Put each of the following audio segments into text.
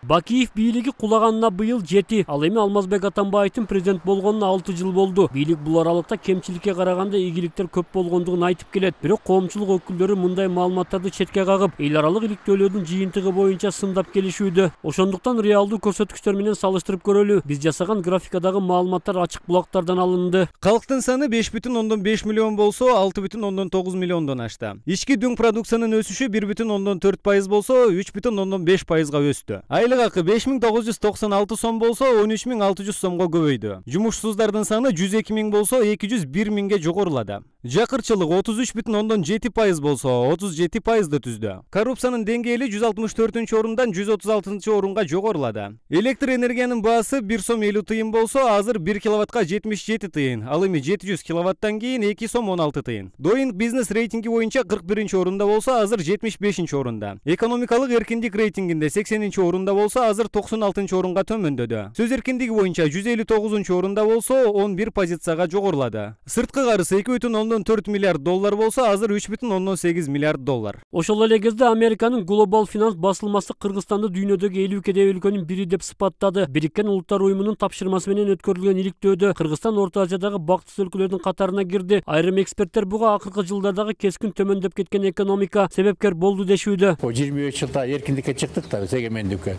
Бакиев бийлиги кулаганына быйыл 7. Ал эми Алмазбек Атамбаевдин президент болгонуна 6 жыл болду. Бийлик бул аралыкта кемчиликке караганда ийгиликтер көп болгондугун айтып келет. Бирок коомчулук өкүлдөрү мындай маалыматтарды четке кагып, эл аралык иликтөөлөрдүн жыйынтыгы боюнча сындап келишүүдө. Ошондуктан реалдуу көрсөткүчтөр менен салыштырып көрөлү. Биз жасаган графикадагы маалыматтар ачык булактардан алынды. Калктын саны 5,5 миллион болсо, 6,9 миллиондон ашты. Ички дүң продукциянын өсүшү 1,4% болсо, 3,5%га өстү. Айлык акы 5996 сом болсо, 13600 сомго көбөйдү. Жумушсуздардын саны 102 миң болсо, 201 миңге жогорулады. Жакырчылык 33,7% болсо, 37%ды түздү. Коррупциянын деңгээли 164 орундан 136 орунга жогорулады. Электр энергиянын баасы 1 сом 50 тыйын болсо, азыр 1 киловаттка 77 тыйын, ал эми 700 киловаттан кийин 2 сом 16 тыйын. Doing Business рейтинги боюнча 41 орунда болсо, азыр 75 орунда. Экономикалык эркиндик рейтингинде 80 орунда болсо, азыр 96 орунга төмөндөдү. Сөз эркиндиги боюнча 159 орунда болсо, 11 позицияга жогорулады. Сырткы карызы 2,4 миллиард доллар болсо, азыр 3,8 миллиард доллар. Ошол эле кезде Американын Global Finance басылмасы Кыргызстанды дүйнөдөгү 50 кедей өлкөнүн бири деп сыпаттады. Бириккен Улуттар уюмунун тапшырмасы менен өткөрүлгөн иликтөөдө Кыргызстан Орто Азиядагы бактысыз өлкөлөрдүн катарына кирди. Айрым эксперттер буга акыркы жылдардагы кескин төмөндөп кеткен экономика себепкер болду дешүүдө. 23 жылда эркиндикке чыктык да, эгемендикке.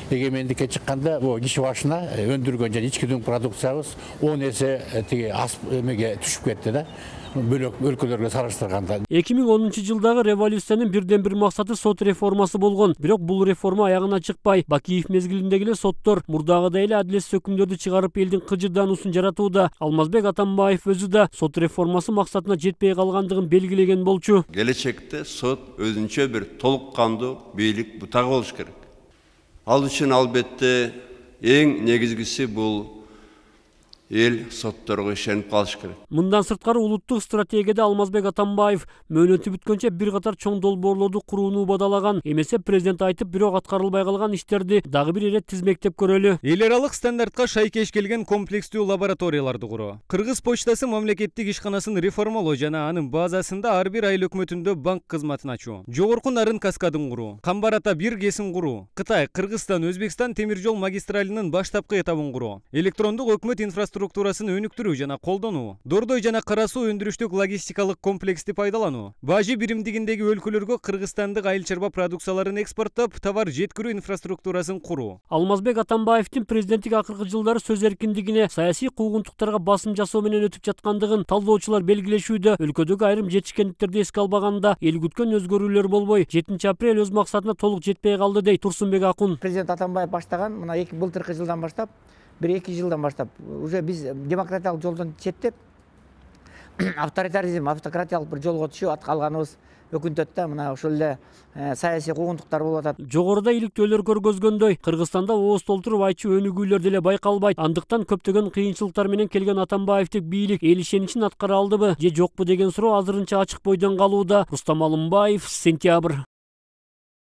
Эгемендикке чыкканда бул киши башына өндүргөн жана ички дүң продукциябыз 10 эсе тиги эмеге түшүп кетти да. Бөлөк өлкөлөргө салыштырганда. 2010 жылдагы революциянын бирден бир максаты сот реформасы болгон. Бирок бул реформа аягына чыкпай, Бакиев мезгилиндеги эле соттор мурдагыдай эле адилетсиз өкүмдөрдү чыгарып элдин кыжырдаануусун жаратууда. Алмазбек Атамбаев өзү да сот реформасы максатына жетпей калгандыгын белгилеген болчу. Келечекте сот өзүнчө бир толук кандуу бийлик бутагы болуш керек. Ал үчүн албетте эң негизгиси бул эл сотторго ишенип калыш керек. Мындан сырткары улуттук стратегияда Алмазбек Атамбаев мөөнөтү бүткөнчө бир катар чоң долбоорлорду курууну убадалаган. Эмесе президент айтып, бирок аткарылбай калган иштерди дагы бир ирет тизмектеп көрөлү. Эл аралык стандартка шайкеш келген комплекстүү лабораторияларды куруу. Кыргыз почтасы мамлекеттик ишканасын реформалоо жана анын базасында ар бир айыл өкмөтүндө банк кызматын ачуу. Жогорку нарын каскадын куруу. Камбарата бир кесин куруу. Кытай, Кыргызстан, Өзбекстан темир жол магистралинин баштапкы этабын куруу. Электрондук өкмөт инфраструктурасын өнүктүрүү жана колдонуу. Дордой жана кара суу өндүрүштүк логистикалык комплексти пайдалануу. Бажы биримдигиндеги өлкөлөргө кыргызстандык айыл чарба продукцияларын экспорттоп, товар жеткирүү инфраструктурасын куруу. Алмазбек Атамбаевдин президенттик акыркы жылдары сөз эркиндигине, саясий куугунтуктарга басым жасоо менен өтүп жаткандыгын талдоочулар белгилешүүдө. Өлкөдөгү айрым жетишкендиктерди эске албаганда эл күткөн өзгөрүүлөр болбой, 7 апрель өз максатына толук жетпей калды дейт Турсунбек Акун. Президент Атамбаев баштаган мына былтыркы жылдан баштап, 1-2 жылдан баштап уже биз демократиялык жолдон четтеп авторитаризм, автократиялык бир жолго түшүп калганыбыз өкүнтөт да. Мына ошол эле саясий куугунтуктар болуп атат. Жогоруда иликтөөлөр көргөзгөндөй, Кыргызстанда ооз толтуруп айчу өнүгүүлөр деле байкалбайт. Андыктан көптөгөн кыйынчылыктар менен келген Атамбаевдик бийлик эл ишеничин аткара алдыбы же жокпу деген суроо азырынча ачык бойдон калууда. Рустам Алымбаев, Сентябрь.